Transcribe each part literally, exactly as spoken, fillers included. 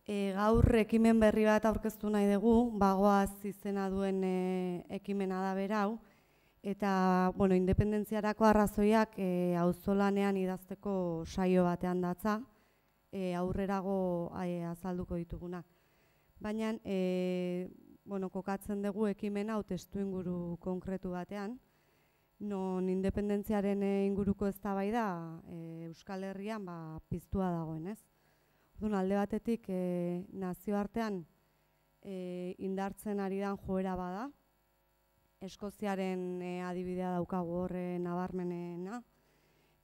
E, gaur ekimen berri bat aurkeztu nahi dugu, bagoaz izena duen e, ekimena da berau, eta bueno, independentziarako arrazoiak e, auzolanean idazteko saio batean datza, e, aurrerago e, azalduko ditugunak. Baina e, bueno, kokatzen dugu ekimena hau testuinguru konkretu batean, non independentziaren e, inguruko eztabaida e, Euskal Herrian ba, piztua dagoen, ez? Orduan, alde batetik e, nazioartean e, indartzen ari dan joera bada, Eskoziaren e, adibidea daukagu horre nabarmenena,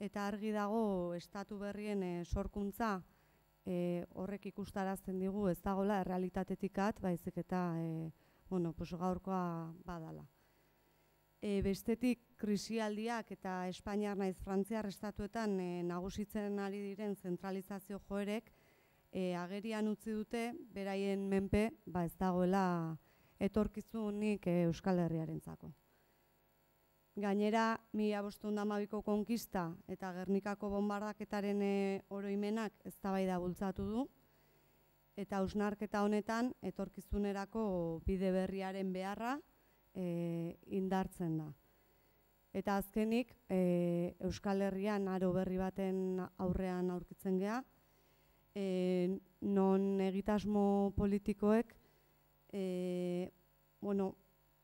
eta argi dago estatu berrien e, sorkuntza e, horrek ikustarazten digu ez dagoela errealitatetik at, baizik eta e, bueno, pues, gaurkoa badala. E, bestetik, krisialdiak eta Espainiar naiz Frantziar estatuetan e, nagusitzen ari diren zentralizazio joerek e, agerian utzi dute, beraien menpe ba, ez dagoela etorkizunik e, Euskal Herriarentzako. Gainera, mila bostehun eta hamabiko konkista eta Gernikako bonbardaketaren e, oroimenak eztabaida bultzatu du, eta hausnarketa honetan etorkizunerako bide berriaren beharra e, indartzen da. Eta azkenik, e, Euskal Herrian aro berri baten aurrean aurkitzen gea, e, non egitasmo politikoek, e, bueno,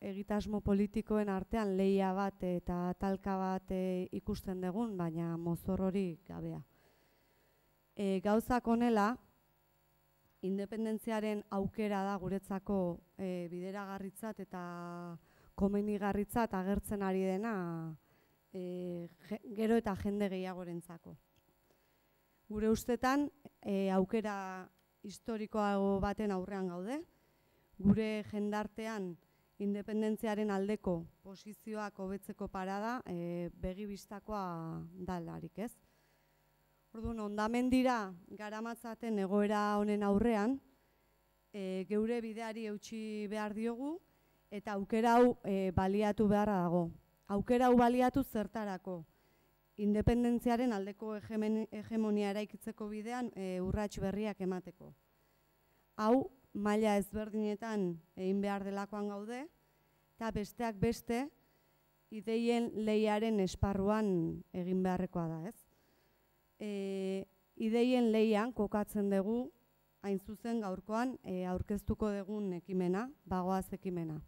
egitasmo politikoen artean lehia bat eta talka bat e, ikusten dugun, baina mozor hori gabea. E, gauzak honela, independentziaren aukera da guretzako e, bideragarritzat eta komenigarritzat agertzen ari dena e, gero eta jende gehiagorentzako. Gure ustetan, e, aukera historikoago baten aurrean gaude, gure jendartean independentziaren aldeko posizioak hobetzeko parada e, begibistakoa dalarik, ez? Orduan, hondamendira garamatzaten egoera honen aurrean, e, geure bideari eutsi behar diogu, eta aukera hau e, baliatu beharra dago. Aukera hau baliatu zertarako, independentziaren aldeko hegemonia eraikitzeko bidean e, urrats berriak emateko. Hau, maila ezberdinetan egin behar delakoan gaude, eta besteak beste, ideien lehiaren esparruan egin beharrekoa da, ez? E, ideien lehian kokatzen dugu, hain zuzen gaurkoan e, aurkeztuko dugun ekimena, bagoaz ekimena.